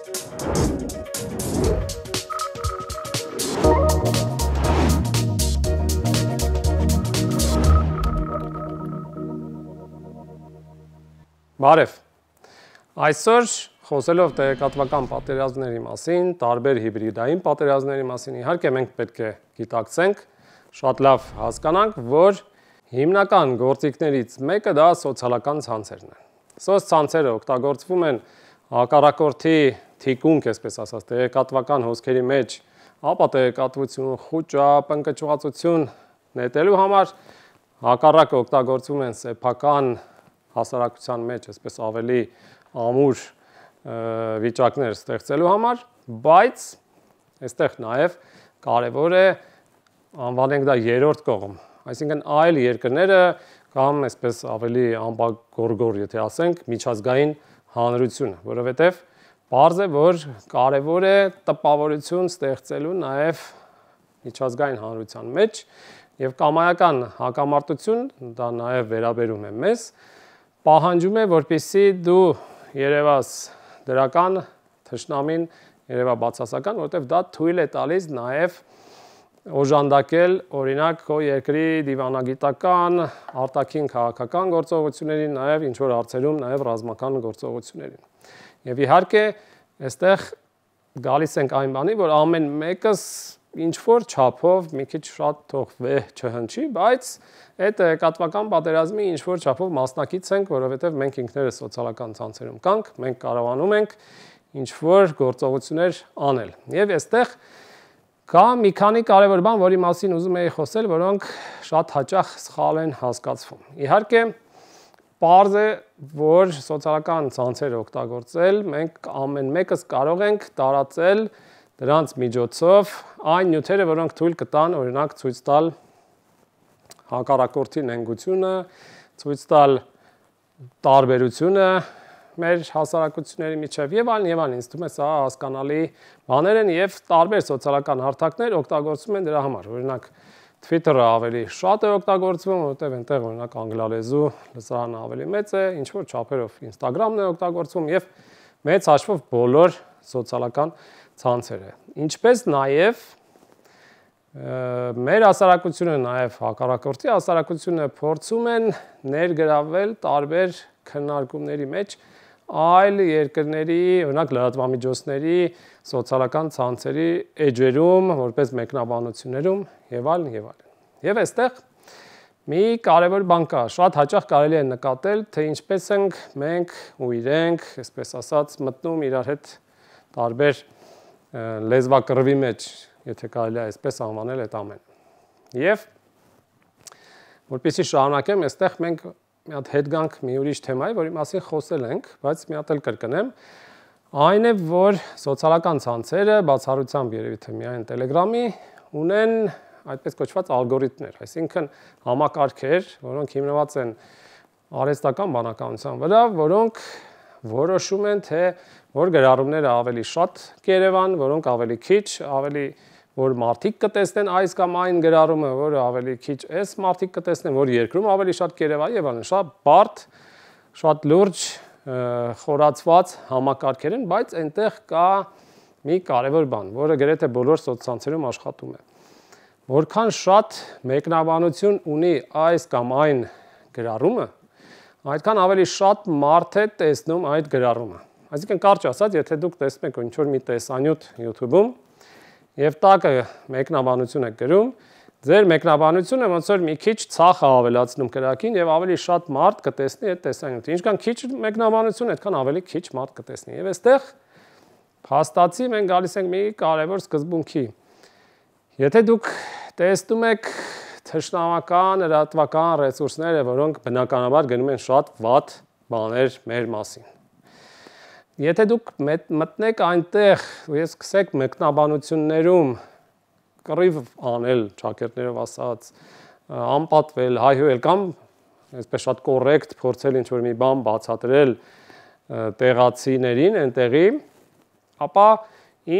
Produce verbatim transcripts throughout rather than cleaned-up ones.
Բարև, այսօր խոսելով տեղեկատվական պատերազմների մասին, տարբեր հիբրիդային պատերազմների մասին, իհարկե մենք պետք է գիտակցենք, շատ լավ հասկանանք, որ հիմնական գործիքներից մեկը դա սոցիալական ցանցերն են։ Սոց ցանցերը օգտագործվում են հակառակորդի թիկունք, այսպես ասած, տեղեկատվական հոսքերի մեջ, ապա տեղեկատվություն, խուճապ, ընկճվածություն նետելու համար, հակառակը օգտագործվում են սեփական հասարակության մեջ, այսպես ավելի ամուր վիճակներ ստեղծելու համար, բայց այստեղ նաև կարևոր է անվանենք դա երրորդ կողմ, այսինքն այլ երկրները կամ այսպես ավելի ամբողջգորգոր, եթե ասենք, միջազգային հանրությունը, որովհետև պարզ է, որ կարևոր է տպավորություն ստեղծելու նաև միջազգային հանրության մեջ եւ կամայական հակամարտություն, դա նաև վերաբերում է մեզ, պահանջում է, որպեսզի դու երևաս դրական, թշնամին երևա բացասական, որովհետև դա թույլ է տալիս նաև օժանդակել օրինակ քո երկրի դիվանագիտական, արտաքին քաղաքական գործողություններին, նաև ինչ որ հարցերում նաև ռազմական գործողություններին։ Եվ իհարկե, այստեղ գալիս ենք այն բանի, որ ամեն մեկս ինչ որ չափով մի քիչ շատ թող վեհ չհնչի, բայց այդ տեղեկատվական պատերազմի ինչ որ չափով մասնակից ենք, որովհետև մենք ինքներս սոցիալական ցանցերում կանք, մենք կարողանում ենք ինչ որ գործողություններ անել։ Եվ այստեղ կա մի քանի կարևոր բան, որի մասին ուզում եի խոսել, որոնք շատ հաճախ սխալ են հասկացվում։ Իհարկե, պարզ է, որ սոցիալական ցանցեր օգտագործել, մենք ամեն մեկս կարող ենք տարածել դրանց միջոցով այն նյութերը, որոնք թույլ կտան, օրինակ, ցույց տալ հակառակորդի նենգությունը, ցույց տալ տարբերությունը մեր հասարակությունների միջև եւ այլն եւ այլն, ինձ թվում է սա հասկանալի բաներ են եւ տարբեր սոցիալական հարթակներ օգտագործում են դրա համար։ Օրինակ Twitter-ը ավելի շատ է օգտագործվում, որովհետեւ այնտեղ օրինակ անգլալեզու լսարանը ավելի մեծ է, ինչ որ չափերով Instagram-ն է օգտագործվում եւ մեծ հաշվով բոլոր սոցիալական ցանցերը։ Ինչպես նաեւ մեր հասարակությունը, նաև հակառակորդի հասարակությունը փորձում են ներգրավել տարբեր քննարկումների մեջ այլ երկրների, օրինակ լրատվամիջոցների, սոցիալական ցանցերի էջերում, որպես մեկնաբանություններում եւ այլն եւ այլն։ Եվ այստեղ մի կարևոր բան կա, շատ հաճախ կարելի է նկատել, թե ինչպես ենք մենք ու իրենք, այսպես ասած, մտնում իրար հետ տարբեր լեզվակռվի մեջ, եթե կարելի է այսպես անվանել այդ ամենը։ Եվ որպեսզի շարունակեմ, այստեղ մենք մի հատ հետ գանք մի ուրիշ թեմայի, որի մասին խոսել ենք, բայց մի հատ էլ կրկնեմ, այն է, որ սոցիալական ցանցերը բացառությամբ երևի թե միայն Telegram-ի ունեն այդպես կոչված ալգորիթմներ, այսինքն համակարգեր, որոնք հիմնված են արհեստական բանականության վրա, որոնք որոշում են, թե որ գրառումները ավելի շատ կերևան, որոնք ավելի քիչ, ավելի որ մարդիկ կտեսնեն այս կամ այն գրառումը, որը ավելի քիչ այս մարդիկ կտեսնեն, որ երկրում ավելի շատ կերևա եւ այլն, շատ բարդ, շատ լուրջ խորացված համակարգեր են, բայց այնտեղ կա մի կարևոր բան, որը գրեթե բոլոր սոցցանցերում աշխատում է։ Որքան շատ մեկնաբանություն ունի այս կամ այն գրառումը, այդքան ավելի շատ մարդ է տեսնում այդ գրառումը։ Այսինքն կարճ ասած, եթե դուք տեսնում եք ինչ-որ մի տեսանյութ YouTube-ում եւ տակը մեկնաբանություն եք գրում, ձեր մեկնաբանությունը ոնց որ մի քիչ ցախ է ավելացնում կրակին եւ ավելի շատ մարդ կտեսնի այդ տեսանյութը։ Ինչքան քիչ մեկնաբանություն, այդքան ավելի քիչ մարդ կտեսնի։ Եվ այստեղ փաստացի մենք գալիս ենք մի կարևոր սկզբունքի։ Եթե դուք տեսնում եք թշնամական, լրատվական ռեսուրսները, որոնք բնականաբար գնում են շատ վատ բաներ մեր մասին։ Եթե դուք մտնեք այնտեղ ու ես սկսեք մեկնաբանություններում կռիվ անել, ճակերտներով ասած, անպատվել, հայհոյել կամ այսպես շատ կոռեկտ փորձել ինչ-որ մի բան բացատրել տեղացիներին այնտեղի, ապա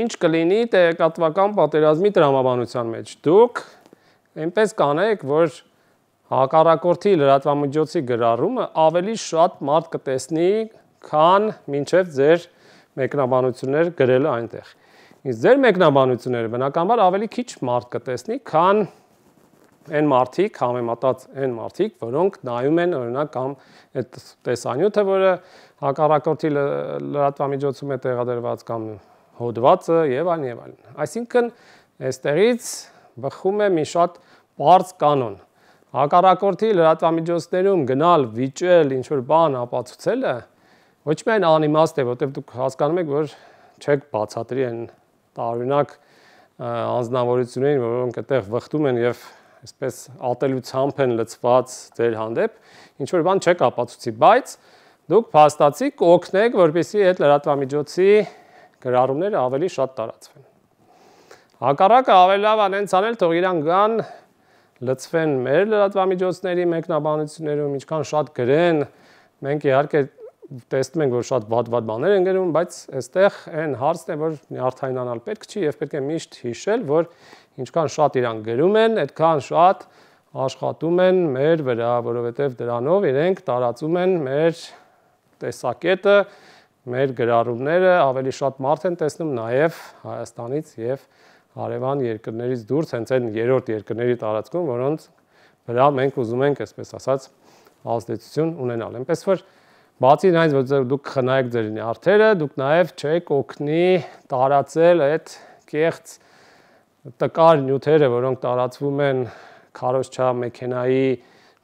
ինչ կլինի տեղեկատվական պատերազմի տրամաբանության մեջ։ Դուք այնպես կանեք, որ հակառակորդի լրատվամիջոցի գրառումը ավելի շատ մարդ կտեսնի, քան մինչև ձեր մեկնաբանություններ գրելը այնտեղ։ Իսկ ձեր մեկնաբանությունները բնականաբար ավելի քիչ մարդ կտեսնի, քան այն մարդիկ, համեմատած այն մարդիկ, որոնք նայում են օրինակ կամ այդ տեսանյութը, որը հակառակորդի լրատվամիջոցում է տեղադրված կամ հոդվածը եւ այլն եւ այլն։ Այսինքն այստեղից բխում է մի շատ բարձ կանոն։ Հակառակորդի լրատվամիջոցներում գնալ, վիճել, ինչ որ բան ապացուցելը ոչ միայն անիմաստ է, որտեղ դուք հասկանում եք, որ չեք բացատրի այն տարօրինակ անձնավորություններին, որոնք այդտեղ վխտում են եւ այսպես ատելությամբ են լցված ձեր հանդեպ, ինչ որ բան չեք ապացուցի, բայց դուք փաստացի կօգնեք, որպեսզի այդ լրատվամիջոցի գրառումները ավելի շատ տարածվեն։ Հակառակը ավելի լավ անենց անել, թող իրան գան, լցվեն մեր լրատվամիջոցների մեկնաբանություններում, ինչքան շատ գրեն, մենք իհարկե տեսնում ենք, որ շատ վատ-վատ բաներ են գրում, բայց այստեղ այն հարցն է, որ նյարդայնանալ պետք չի եւ պետք է միշտ հիշել, որ ինչքան շատ իրան գրում են, այդքան շատ աշխատում են մեր վրա, որովհետեւ դրանով իրենք տարածում են մեր տեսակետը, մեր գրառումները, ավելի շատ մարդ են տեսնում նաեւ Հայաստանից եւ հարևան երկրներից դուրս, հենց այն երրորդ երկրների տարածքում, որոնց վրա մենք ուզում ենք, այսպես ասած, ազդեցություն ունենալ։ Այնպես որ բացի այնից, որ դուք խնայեք ձեր նյարդերը, դուք նաև չեք օգնի տարածել այդ կեղծ տկար նյութերը, որոնք տարածվում են քարոզչա մեքենայի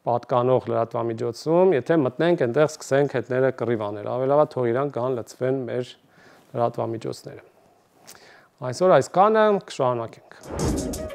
պատկանող լրատվամիջոցում, եթե մտնենք այնտեղ սկսենք հետները կռիվ անել, ավելի լավ է թող իրան կան լցվեն մեր լրատվամիջոցները։ Այսօր այսքանը, կշարունակենք։